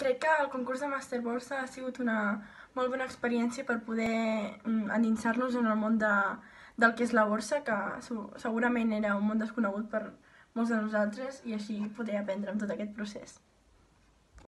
crec que el concurs de Màster Borsa ha sigut una molt bona experiència per poder endinsar-nos en el món del que és la borsa, que segurament era un món desconegut per molts de nosaltres, i així poder aprendre amb tot aquest procés.